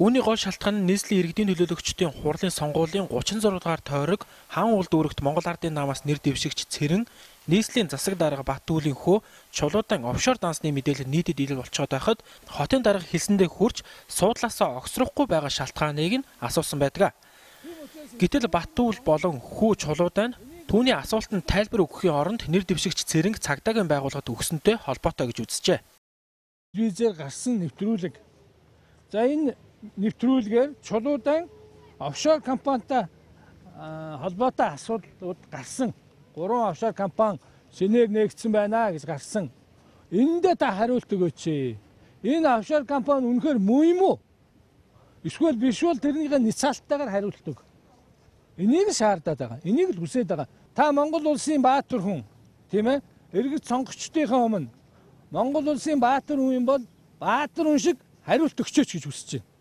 Үүний гол шалтгаан нь нийслэлийн иргэдийн төлөөлөгчдийн хурлын сонгуулийн 36 дугаар тойрог хаан улд өргөт Монгол Ардын намаас нэр дэвшигч Цэрэн нийслэлийн засаг дарга Баттүүлийн хөө Чулуудан офшор дансны мэдээлэл нийтэд ил болцоод байхад хотын дарга хэлсэндээ хүрч суудлаасаа огсрохгүй байгаа шалтгааныг нь асуусан байдаг. Гэтэл Баттүүл болон хүү Чулуудан түүний асуултанд тайлбар өгөхийн оронд нэр дэвшигч Цэрэнг цагдаагийн байгууллагад өгсөнтэй холбоотой гэж үзжээ. Телевизээр гарсан нэвтрүүлэг. За энэ нэвтрүүлгээр Чулуудан офшор компанитай холбоотой асуудлууд гарсан. 3 офшор компани шинээр нээгдсэн байна гэж гарсан. Эндээ та хариулт өгөөч. Энэ офшор компани үнэхээр муу юм уу? Эсвэл биш бол тэрнийхээ ницаалтайгаар хариулт өг. Энийг шаардаад байгаа. Энийг л хүсээд байгаа. Та Монгол улсын баатар хүн, тийм ээ? Иргэд сонгогчдынхаа өмнө Монгол улсын баатар хүн юм бол баатар хүн шиг хариулт өгчөөч гэж хүсэж байна.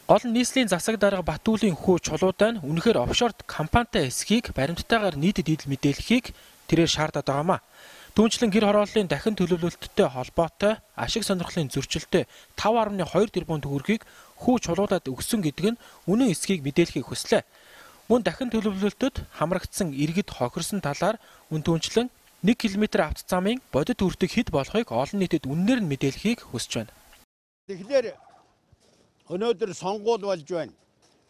Гол нь нийслэлийн засаг дарга Баттүүлийн хүү Чулуудан үнэхээр офшор компанитай эсхийг баримттайгаар нийтэд идэл мэдээлэхийг тэрээр шаардаад байгаамаа. Түүнчлэн гэр хорооллын дахин төлөвлөлттэй холбоотой ашиг сонирхлын зөрчилтэй 5.2 тэрбум төгрөгийг хүү Чулуудад өгсөн гэдэг нь үнэн эсхийг мэдээлэхийг хүслээ. Мөн дахин төлөвлөлтөд хамрагдсан иргэд хохирсон талаар түүнчлэн 1 км автоцамын бодит үртэг хэд болохыг олон нийтэд үннээр нь мэдээлэхийг хүсэж байна. Тэгэхээр өнөөдөр сонгуул болж байна.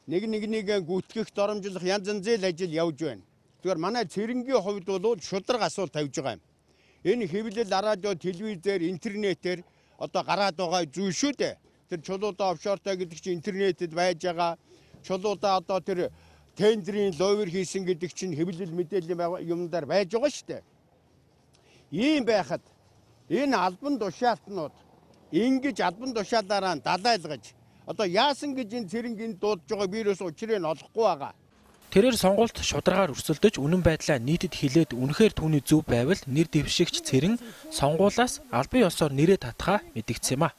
Нэгийг гүйтгэх, доромжлох янз янзын ажил явж байна. Тэгэхээр манай Цэрэнгийн хувьд бол шудраг асуулт тавьж байгаа юм. Энэ хэвлэл радио, телевизээр, интернетээр одоо гараад байгаа зүйл шүү дээ. Тэр Чулуудаа офшортой гэдэг чинь интернетэд байж байгаа. Чулуудаа одоо тэр тендерийн ловер хийсэн гэдэг чинь хэвлэл мэдээллийн юмдаар байж байгаа шүү дээ. Ийм байхад энэ албан тушаалтнууд ингэж албан тушаалаараа далайлгаж одоо яасан гэж энэ Цэрэнгийн дуудаж байгаа вирус учрыг нь олохгүй байгаа. Тэрээр сонгуульд шударгаар өрсөлдөж үнэн байдлаа нийтэд хэлээд үнэхээр түүний зөв байвал нэр дэвшигч Цэрэн сонгуулаас албан ёсоор нэрээ татхаа мэдэгдсэн юм а.